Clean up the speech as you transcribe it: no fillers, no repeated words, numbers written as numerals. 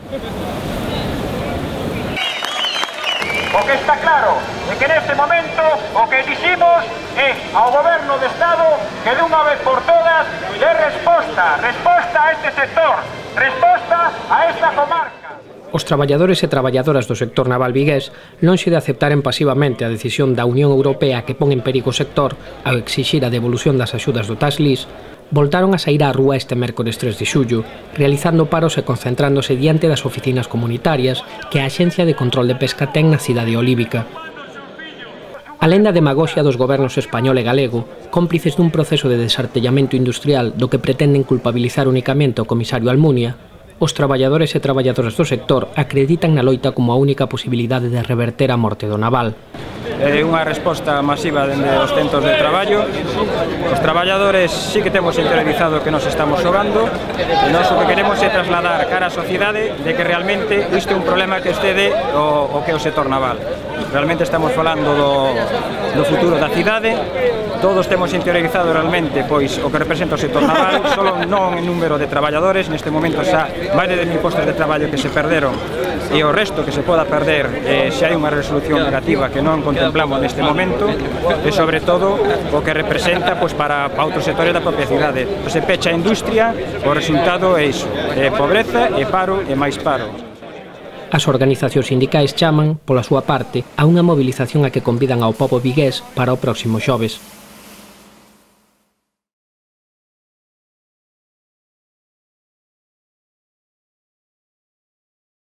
O que está claro é que neste momento o que diximos é ao Goberno de Estado que de unha vez por todas dé resposta a este sector, resposta a esta comarca. Os traballadores e traballadoras do sector naval vigués, lonxe de aceptaren pasivamente a decisión da Unión Europea que pon en perigo o sector ao exixir a devolución das axudas do tax lease, voltaron a saír á rúa este mércores 3 de xullo, realizando paros e concentrándose diante das oficinas comunitarias que a Axencia de Control de Pesca ten na cidade olívica. Alén da demagoxia dos gobernos español e galego, cómplices dun proceso de desartellamento industrial do que pretenden culpabilizar únicamente o comisario Almunia, os traballadores e traballadoras do sector acreditan na loita como a única posibilidade de reverter a morte do naval. É unha resposta masiva dende os centros de traballo. Os traballadores sí que temos interiorizado que nos estamos xogando e nós o que queremos é trasladar cara á sociedade de que realmente isto é un problema que excede o que é o sector naval. Realmente estamos falando do futuro da cidade. Todos temos interiorizado realmente pois o que representa o sector naval, solo non en número de traballadores, neste momento xa máis de 10.000 postos de traballo que se perderon e o resto que se poda perder se hai unha resolución negativa que non contemplamos neste momento e sobre todo o que representa pois para outros sectores da propia cidade. Se pecha a industria, o resultado é iso, pobreza e paro e máis paro. As organizacións sindicais chaman, pola súa parte, a unha movilización a que convidan ao pobo vigués para o próximo xoves.